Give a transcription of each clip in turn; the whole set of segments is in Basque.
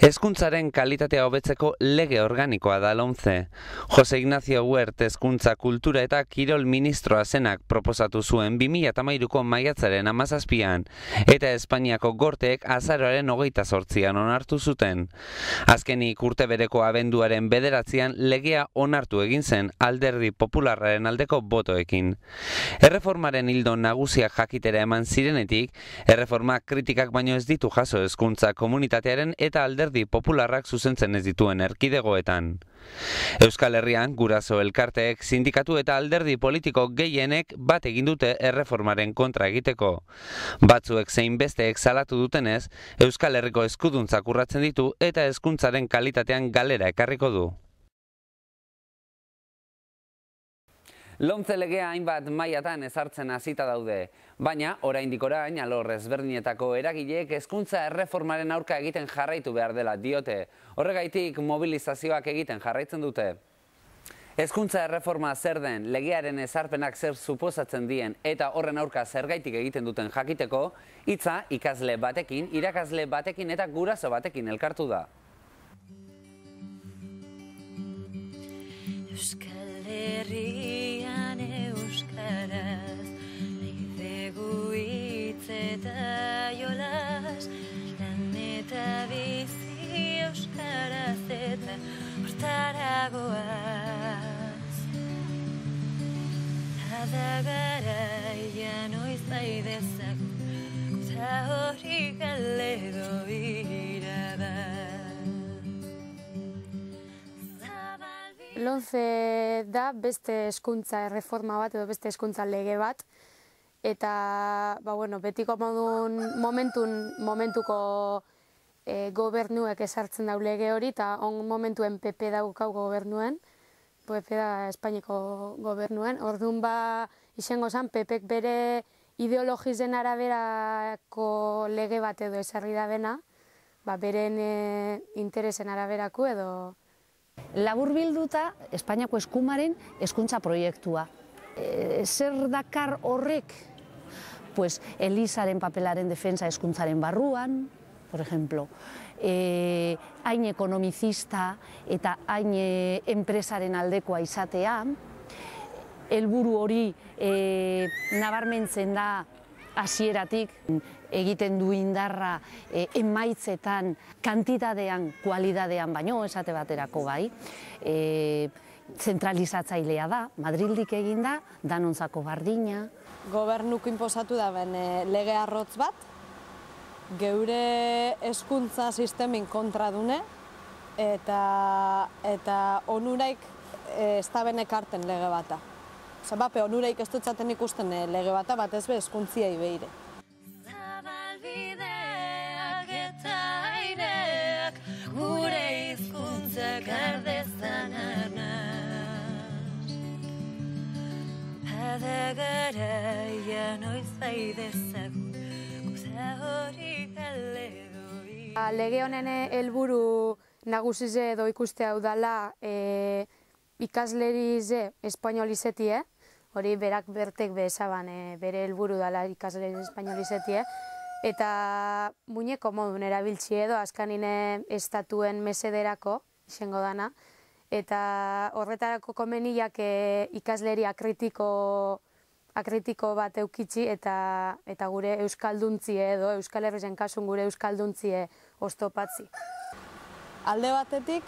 Hezkuntzaren kalitatea hobetzeko lege organikoa da lomce. Jose Ignacio Huert hezkuntza, kultura eta kirol ministroa zenak proposatu zuen 2013ko maiatzaren 17an, eta Espainiako gorteek azaroaren 28an onartu zuten. Azkenik urte bereko abenduaren 9an legea onartu egin zen Alderdi Popularraren aldeko botoekin. Erreformaren ildo nagusiak jakitera eman zirenetik, erreformak kritikak baino ez ditu jaso hezkuntza komunitatearen eta Alderdi Popularrak zuzentzen ez dituen erkidegoetan. Euskal Herrian, guraso elkarteek, sindikatu eta alderdi politiko gehienek bat egin dute erreformaren kontra egiteko. Batzuek zein besteek salatu dutenez, Euskal Herriko eskuduntzak urratzen ditu eta hezkuntzaren kalitatean galera ekarriko du. Lomce legea hainbat mailatan ezartzen hasita daude, baina oraindik orain alor ezberdinetako eragileek hezkuntza erreformaren aurka egiten jarraitu behar dela diote. Horregaitik mobilizazioak egiten jarraitzen dute. Hezkuntza erreforma zer den, legearen ezarpenak zer suposatzen dien eta horren aurka zergaitik egiten duten jakiteko, hitza ikasle batekin, irakasle batekin eta guraso batekin elkartu da. Euskal Herrian euskaraz, leidegu hitz eta jolas, lan eta bizi euskaraz eta hortara goaz. Ada garaia noiz bai dezagun, eta hori galero irabaz. Lomce da beste hezkuntza erreforma bat edo beste hezkuntza lege bat, eta betiko momentuko gobernuek esartzen dau lege hori, eta momentuen PP daukau gobernuen, PP da Espainiako gobernuen. Orduan izango zen PPek bere ideologizen araberako lege bat edo esarri da bena, beren interesen araberako edo. Laburbilduta, Espainiako eskumaren hezkuntza proiektua. Zer dakar horrek? Pues, Elizaren papelaren defensa hezkuntzaren barruan, por ejemplo, hain ekonomizista eta hain enpresaren aldekoa izatea, helburu hori nabarmentzen da hasieratik, egiten du indarra emaitzetan, kantitatean, kualitatean baino, esate baterako bai, zentralizatzailea da, Madrildik egin da, danontzako bardina. Gobernuko inposatu da ben lege arrotz bat, geure hezkuntza sistemin kontra dune, eta onuraik ez da ben ekarten lege bata. Bape, onuraik ez dutzaten ikusten lege bata, bat ez be hezkuntziai behire. Zabalbideak eta aireak, gure hizkuntzak ardezan arnaz. Ada garaia noiz bai dezagun, guza hori galero. Lege honen helburu nagusize edo ikuste hau dala ikaslerize espainolizetie, hori berak bertek bezaban bere helburu dala ikaslerize espainolizetie, eta muñeko modun erabiltzi edo azkanine estatuen mesederako izango dana, eta horretarako komeniak ikasleria akritiko bat eukitzi eta gure euskalduntzie edo Euskal Herrisen kasun gure euskalduntzie oztopatzi. Alde batetik,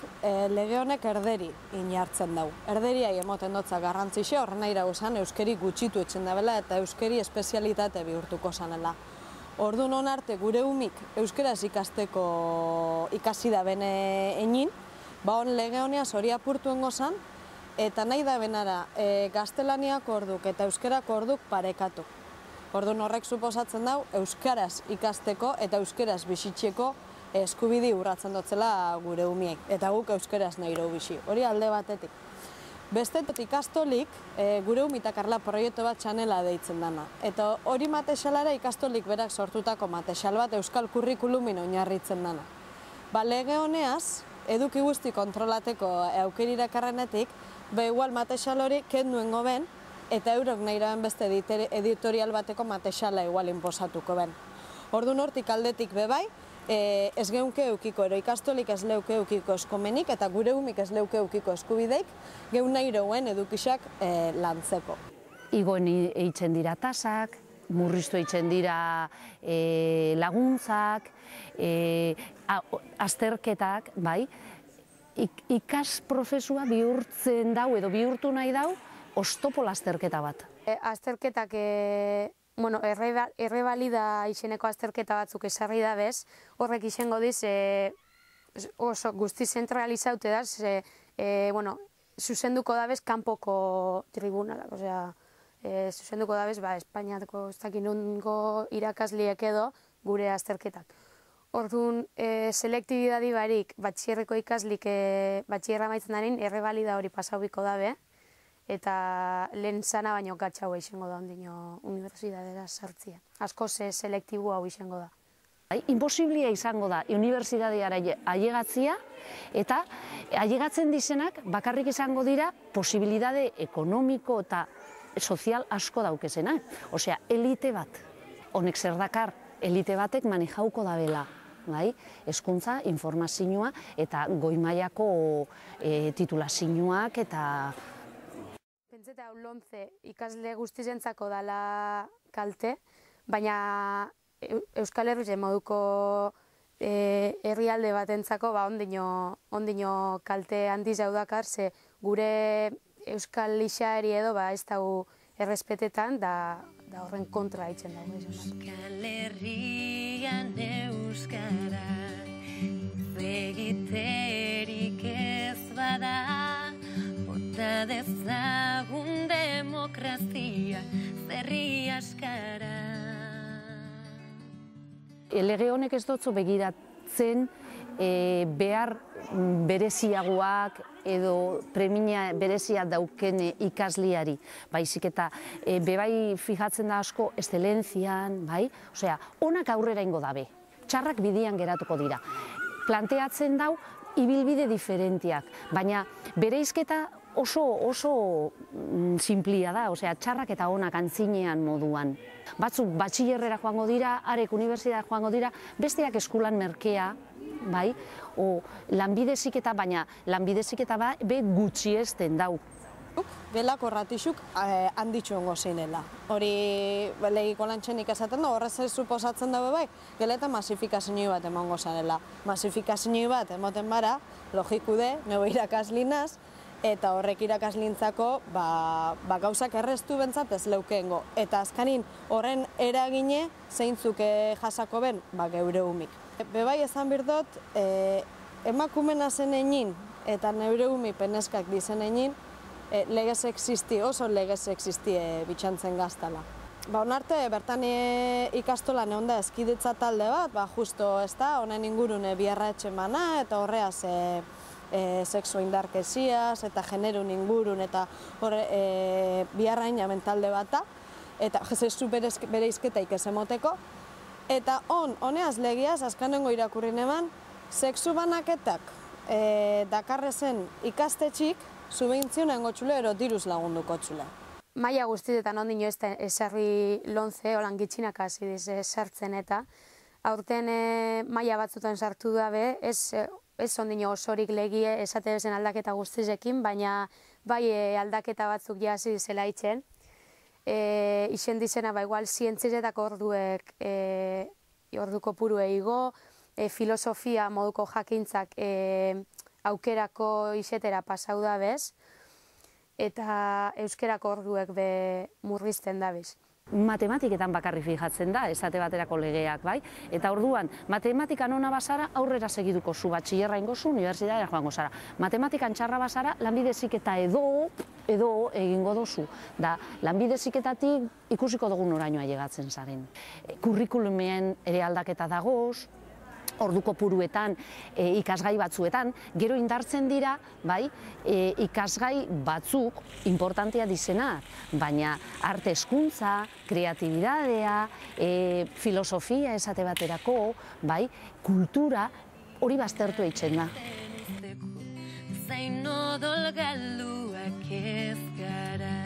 lege honek erderi inartzen dau. Erderiai emoten dotza garrantzixe, horren nahi esan euskeri gutxitu etxen dabela eta euskeri espezialitate bihurtuko zanela. Orduan honarte gure umik euskaraz ikasteko ikasi da bene egin, hon lege honeaz hori apurtuen gozan, eta nahi da benara gaztelaniak orduk eta euskarak orduk parekatu. Orduan horrek suposatzen dau euskaraz ikasteko eta euskaraz bizitzeko eskubidi urratzen dotzela gure umiek, eta guk euskaraz nahi bizi, hori alde batetik. Bestetik ikastolik, gure umita karla proiektu bat txanela deitzen dana, eta hori matesalara ikastolik berak sortutako matesal bat euskal kurrikulumin oinarritzen dana. Lege honeaz, eduki guzti kontrolateko aukeri irakarrenetik, igual matesal hori kenduengo ben, eta eurok nahi raben beste editorial bateko matesala igual inposatuko ben. Orduan hortik aldetik bebai, ez geunke eukiko, ero ikastolik ez leuke eukiko eskomenik, eta gure umik ez leuke eukiko eskubideik, geun nahi roen edukisak lantzeko. Igoen eitzen dira tasak, murriztu eitzen dira laguntzak, azterketak, bai, ikas prozesua bihurtzen dau edo bihurtu nahi dau oztopo lasterketa bat. Azterketak, errebalida izeneko azterketa batzuk esarri da bez, horrek izango diz oso guzti zentralizaute da, zuzenduko da bez kanpoko tribunalak, zuzenduko da bez, Espainiako ez dakit nungo irakasliek edo gure azterketak. Orduan, selektibidadi barik, batxierreko ikaslik batxierra maitzen darin, errebalida hori pasaubiko dabe, eta lehen zana baino gatxau izango da ondino unibertsitatera sartzia. Asko selektibo hau izango da. Imposiblia izango da unibertsitateara ailegatzia, eta ailegatzen dizenak bakarrik izango dira posibilitate ekonomiko eta sozial asko daukezenak. Osea, elite bat. Honek zer dakar, elite batek manejauko dabela. Hezkuntza, informazioa eta goi-mailako titulazioak eta... Pentseta hau lomze ikasle guztizentzako dala kalte, baina Euskal Herrien moduko herrialde batentzako ondino kalte handiz hau dakar, ze gure Euskal Lixaeri edo ez dago errespetetan, da horren kontra haitzen dago. Euskal Herrian euskara, egiterik ez bada, bota dezagun demokrazia, zerri askara. Lege honek ez dutzu begiratzen behar bereziagoak edo premia berezia dauken ikasliari, baizik eta bebai fijatzen da asko eszelentzian, osea, onak aurrera ingo dabe, txarrak bidian geratuko dira. Planteatzen dau ibilbide diferentiak, baina bereizketa oso simplia da, osea, txarrak eta onak antzinean moduan. Batzuk batxillerrera joango dira, arek unibertsitatea joango dira, besteak eskulan merkea, lanbide heziketa, baina lanbide heziketa be gutxiesten dau. Belako ratixuk handitxu ongo zinela. Hori legiko lantxenik esaten da, horrez ez suposatzen dabe bai, geleta masifikazio bat emongo zanela. Masifikazio bat emoten bara, logiku de, nebo irakaslinaz, eta horrek irakaslintzako gauzak erreztu bentzat ez leukeengo. Eta azkanin horren eragine zeintzuk jasako ben, geure umik. Bebai esan birdot, emakumena zen egin eta neure umi peneskak dizen egin, legez existi, oso legez existi bitxantzen gaztala. Onarte, bertan ikastolan egon da eskiditza talde bat, justo ez da, honen ingurune biharra etxemana, eta horreaz sexu indarkeziaz, eta generun ingurun, eta biharra inamen talde bat da, eta jezezu bereizketaik ez emoteko, eta honeaz legiaz, azkanengo irakurri neman, sexu banaketak dakarrezen ikastetxik, subentzionen gotxule ero diruz lagunduko txule. Maia guztietan ondino ez da esarri lonze, holan gitxinak hasi sartzen eta aurten maia batzutan sartu dabe, ez ondino osorik legie esate bezen aldaketa guztizekin, baina bai aldaketa batzuk jasi zela itzen. Izen dizena igual zientzizetako orduek orduko purue igo, filosofia moduko jakintzak aukerako izetera pasau da bez, eta euskerako orduek be murrizten da bez. Matematiketan bakarri fijatzen da, esate baterako legeak, bai? Eta orduan, matematikan ona bazara, aurrera segiduko zu, batxillerra ingozu, unibertsitatera joango zara. Matematikan txarra bazara, lanbide heziketa edo egingo dozu. Da, lanbide heziketatik ikusiko dugu noraino ailegatzen zaren. Kurrikulumen ere aldaketa dagoz, orduko puruetan, ikasgai batzuetan, gero indartzen dira, bai, ikasgai batzuk importantea dizenak, baina arte hezkuntza, kreatibidadea, filosofia esate baterako, bai, kultura, hori baztertu eitzen da. Zain odol galduak ez gara,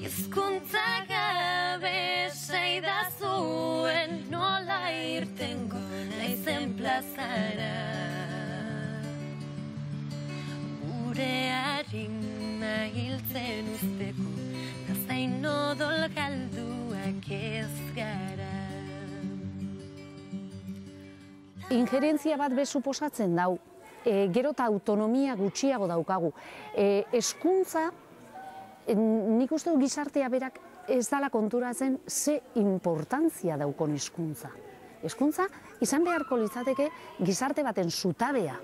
hizkuntza gabe zaidazuen nola irtengo naizen plazara. Gure harima hiltzen usteko, zain odol galduak ez gara. Injerentzia bat be suposatzen dau, gero eta autonomia gutxiago daukagu. Hezkuntza, nik uste du gizartea berak ez dala konturatzen ze importantzia daukon hizkuntza. Hezkuntza izan beharko litzateke gizarte baten zutabea.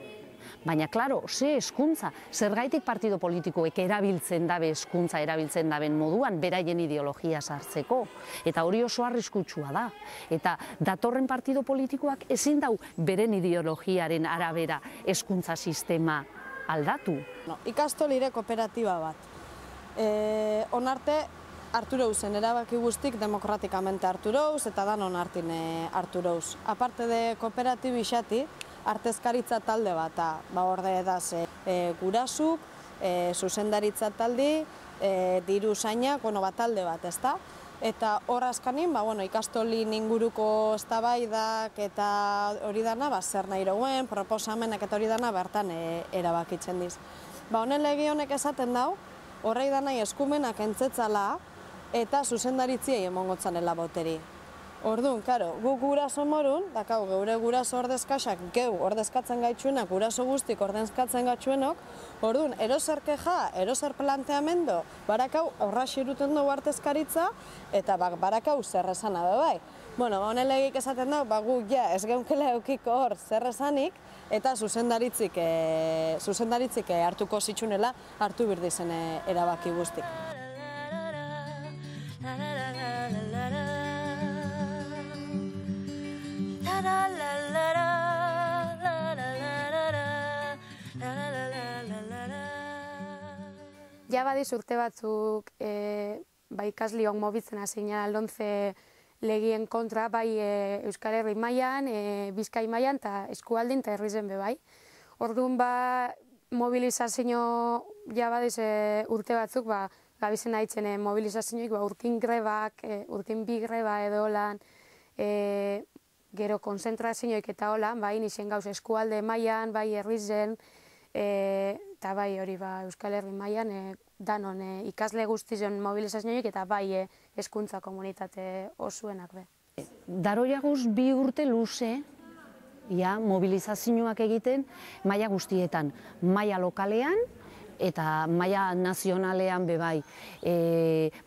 Baina, klaro, ze hezkuntza, zergaitik partido politikoek erabiltzen dabe hezkuntza erabiltzen daben moduan, beraien ideologia sartzeko. Eta hori oso arriskutsua da. Eta datorren partido politikoak ezin dau beren ideologiaren arabera hezkuntza sistema aldatu. Ikastolire kooperatiba bat. Onarte, hartu rauzen, erabaki guztik demokratikamente hartu rauz eta danon hartin hartu rauz. Aparte de kooperatibi xati, artezkaritza talde bat, orde edaz gurasuk, zuzendaritza taldi, diru zainak, talde bat, ezta? Eta hor azkanin, ikastolin inguruko eztabaidak eta hori dana, zer nahi rauen, proposamenak eta hori dana bertan erabakitzen diz. Honen lege honek esaten dau, horrei danai eskumenak entzetzala eta zuzendaritzia emongotzanela boteri. Orduan, karo, gu guraso morun, dakau, geure guraso ordezkaxak, geu ordezkatzen gaitxuenak, guraso guztik ordezkatzen gaitxuenok, orduan, eroser keja, eroser planteamendo, barakau aurra xiruten dugu artezkaritza, eta barakau zerrezana bai. Honen legik esaten dugu, gu ja ez geunkela eukiko hor zerrezanik, eta zuzendaritzik hartuko zitsunela, hartu birdizen erabaki guztik. Ja badiz urte batzuk ikasliok mobitzen hasina lomce legien kontra, bai Euskal Herri mailan, Bizkai mailan eta eskualdin eta herrizen be bai. Orduan mobilizazio ja badiz urte batzuk gabizen haitzen mobilizazioik urtin grebak, urtin bi greba edo lan, gero konzentrazioik eta holan, bai nixen gauz eskualde mailan, bai herrizen, eta bai hori Euskal Herri mailan danon ikasle guztizen mobilizazioik eta bai hezkuntza komunitate osuenak be. Daroiaguz 2 urte luze mobilizazioak egiten maila guztietan, maila lokalean eta maila nazionalean be bai.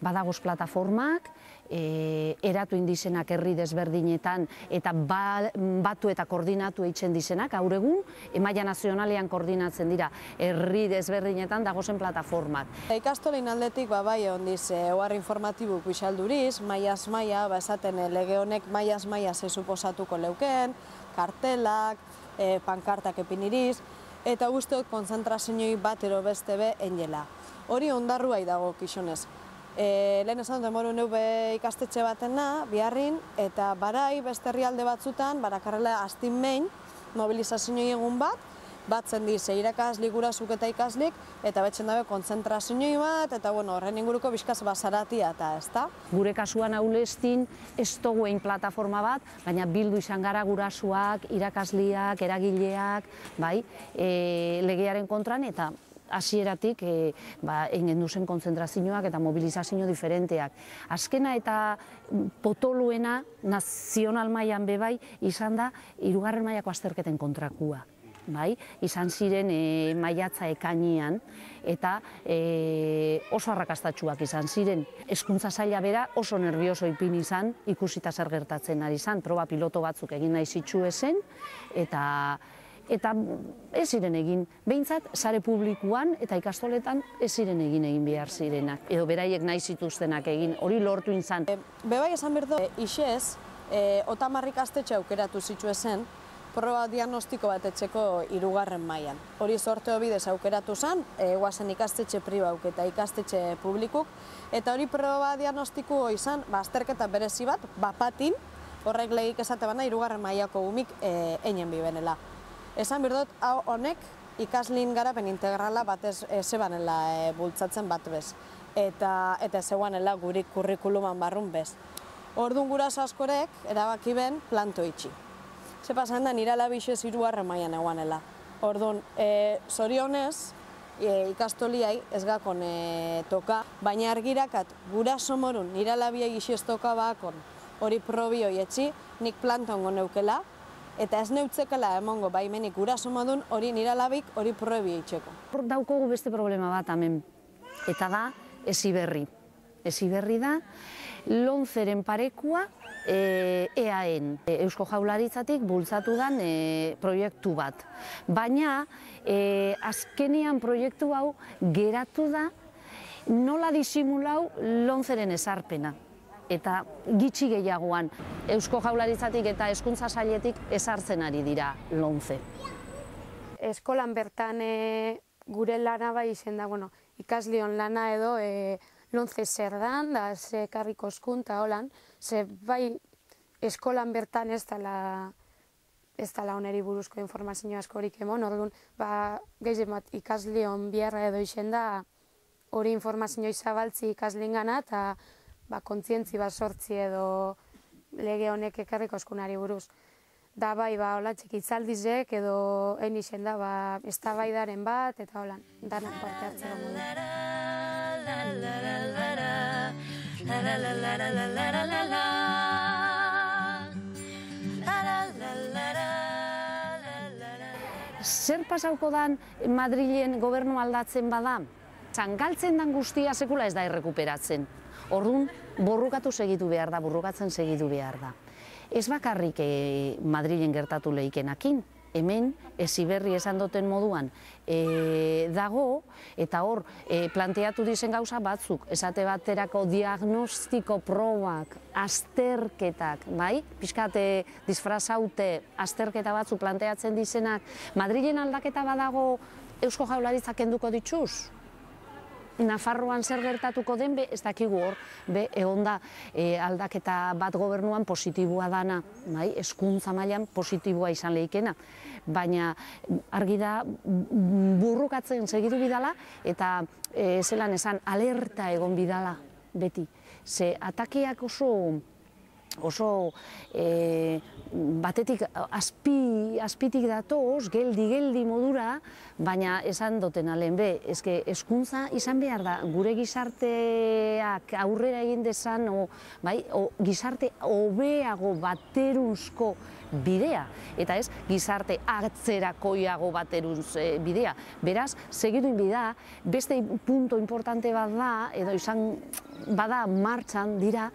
Badagoz plataformak, eratu indizenak herri desberdinetan eta batu eta koordinatu eitzen dizenak, gaur egun, maila nazionalean koordinatzen dira, herri desberdinetan dagozen plataformak. Ikastolin aldetik bai ondiz, ohar informatibu pixalduriz, maiaz maia, esaten lege honek maiaz maia ze suposatuko leuken, kartelak, pankartak epiniriz, eta usteot konzentrazioi bat ero beste be enjela. Hori ondarruai dago kixonez. Lehen esan demoru neu ikastetxe batena, biharrin, eta barai beste herrialde batzutan, barakarrela astin mein, mobilizazio egun batzen diz, irakaslik, gurasuk eta ikaslik, eta betzen dabe konzentrazio bat, eta horren inguruko bizkaz basaratia eta ezta. Gure kasuan aulestin ez duguen plataforma bat, baina bildu izan gara gurasuak, irakasliak, eragileak, legearen kontran, eta hasieratik egin duzen konzentrazioak eta mobilizazio diferenteak. Azkena eta potoluena nazional mailan bebai izan da 3. mailako azterketen kontrakua. Izan ziren maiatza ekainean eta oso arrakastatsuak izan ziren. Hezkuntza saila bera oso nervioso ipin izan, ikusita zer gertatzen ari izan, proba piloto batzuk egin nahi zituen eta ez ziren egin, behintzat, sare publikoan eta ikastoletan ez ziren egin behar zirenak. Edo beraiek nahi zituztenak egin, hori lortu izan. Bebai esan berdo, isez, 30 ikastetxe aukeratu zituen proba diagnostiko bat etxeko 3. mailan. Hori sorteo bidez aukeratu zen, guazen ikastetxe pribauk eta ikastetxe publikuk, eta hori proba diagnostiko izan, azterketa berezi bat, bapatin, horrek legik esate bana 3. mailako gumik einen bibenela. Esan berdot, honek ikaslin garapen integrala batez zebanela bultzatzen bat bez. Eta zegoanela gurik kurrikuluman barrun bez. Orduan guraso askorek erabaki ben planto itxi. Ze pasan da nire alabixez 3. mailan eguanela. Orduan, zorionez, ikastoliai ez gakon toka, baina argirakat guraso morun nire alabia gixiez toka bakon hori probi hoi etxi, nik planta ongo neukela, eta ez neutzekela emongo baimenik guraso modun hori nire alabik hori probi eitxeko. Hor daukogu beste problema bat hemen, eta da Heziberri. Heziberri da Lomceren parekua EAen, Eusko Jaurlaritzatik bultzatu den proiektu bat. Baina azkenean proiektu hau geratu da nola disimulau Lomceren ezarpena. Eta gitxi gehiagoan Eusko Jaurlaritzatik eta Hezkuntza Sailetik ezartzen ari dira Lomce. Eskolan bertan gure lana bai izen da, ikaslion lana edo Lomce zer dan, da ze karriko eskunta holan, ze bai eskolan bertan ez dela oneri buruzko informazio askorik emon, orduan, gehien bat ikaslion biharra edo izen da hori informazio zabaltzi ikaslingana eta kontzientzi bat sortzi edo lege honek ekarriko eskunari buruz. Da bai, hola txikitzaldizek edo egin izen da, eztabaidaren bat eta holan, danak parte hartzera modu. Zer pasauko dan Madrilen gobernu aldatzen bada? Galtzen dan guztia sekula ez da errekuperatzen. Orduan, borrukatu segitu behar da, borrukatzen segitu behar da. Ez bakarrik Madrilen gertatu lehikenakin, hemen Heziberri esan duten moduan dago, eta hor planteatu dizen gauza batzuk, esate baterako diagnostiko probak, azterketak, bai? Pixkat disfrazaute azterketa batzuk planteatzen dizenak, Madrilen aldaketa badago Eusko Jaurlaritzak kenduko dituz? Nafarroan zer gertatuko den, ez dakigu hor, egon da aldaketa bat gobernuan positiboa dana, hezkuntza mailan positiboa izan lehikena. Baina argi da burrukatzen segitu bidala eta zelan esan alerta egon bidala beti. Ze atakeak oso batetik azpitik datoz, geldi modura, baina esan duten alen hezkuntza izan behar da, gure gizarteak aurrera egin dezan, gizarte hobeago bateruzko bidea, eta ez gizarte atzerakoiago bateruz bidea. Beraz, segituin bida, beste punto importante bat da, edo izan bada martxan dira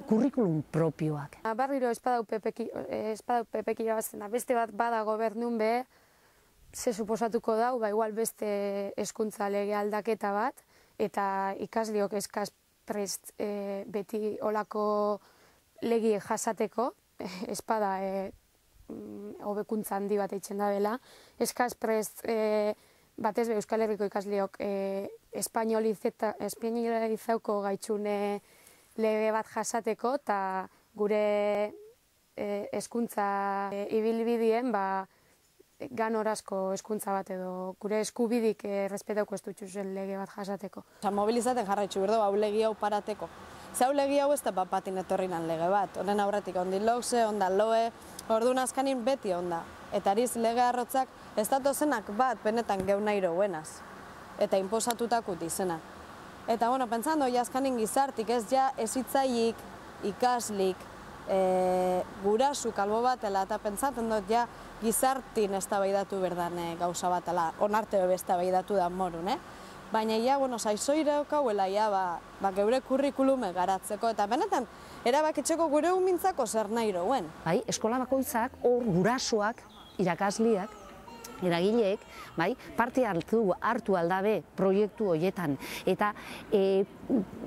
kurrikulum propioak. Barriro espadau pepek irabazten da, beste bat bada gobernun ze suposatuko dau, igual beste hezkuntza lege aldaketa bat, eta ikasliok eskaz prest beti olako legi jasateko, espada hobekuntza handi bat eitzen da dela, eskaz prest batez Euskal Herriko ikasliok espainolizauko gaitxune lege bat jasateko eta gure hezkuntza ibilbidien ganorazko hezkuntza bat edo gure eskubidik errespetauko ez dutxuzen lege bat jasateko. Mobilizaten jarraitzu berdo, hau legi hau parateko. Zau legi hau ez da batin etorrinan lege bat, honen aurretik ondi lokze, onda loe, orduan azkanin beti onda. Eta ariz lege arrotzak ez datozenak bat benetan geu nahi roguenaz, eta inposatutakut izena. Eta, pentsando, azkanin gizartik ez ja ezitzailik, ikaslik, gurasu kalbo batela, eta pentsaten dut ja gizartin eztabaidatu berdan gauza batela, onarte hobe eztabaidatu da morun, Baina, zaizoire okauela, geure kurrikulume garatzeko, eta benetan, erabakitzeko gure umintzako zer nahi rouen. Bai, eskola bakoitzak, hor gurasoak, irakasliak, eragileek, parte hartu aldabe proiektu horietan. Eta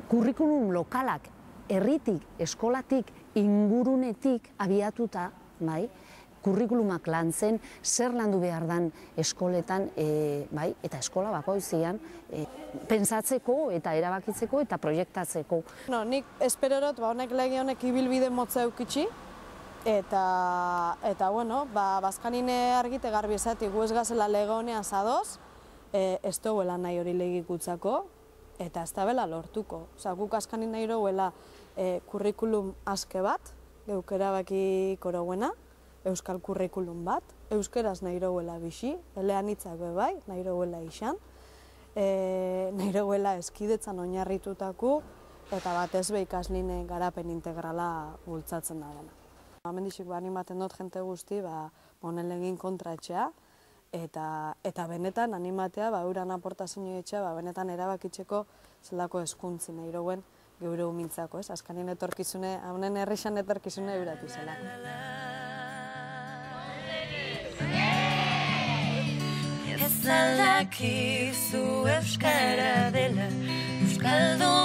kurrikulum lokalak, herritik, eskolatik, ingurunetik abiatuta, kurrikulumak lantzen, zer landu behar dan eskoletan, eta eskola bakoitzean, pentsatzeko eta erabakitzeko eta proiektatzeko. Nik esperorot, honek lege honek ibilbide motza eukitxi, eta, bazkanine argite garbi esati gu ez gazela lege honean zadoz, ez duela nahi hori legikutzako, eta ez da bela lortuko. Guk azkanin nahi roguela kurrikulum aske bat, geuk erabakiko rauena, euskal kurrikulum bat, euskeraz nahi rauela bixi, eleanitzak bebai, nahi rauela izan, nahi rauela eskidetzan oinarritutaku, eta batez be ikasline garapen integrala bultzatzen da dena. Amendixik animaten dut jente guzti, honen legin kontratxea, eta benetan animatea, euran aportazio etxea, benetan erabakitzeko zelako eskuntzi nahi rauen geure humintzako, ez? Azkanien etorkizune, honen herrixan etorkizune euratu zela. Ez aldakizu euskara dela, euskaldun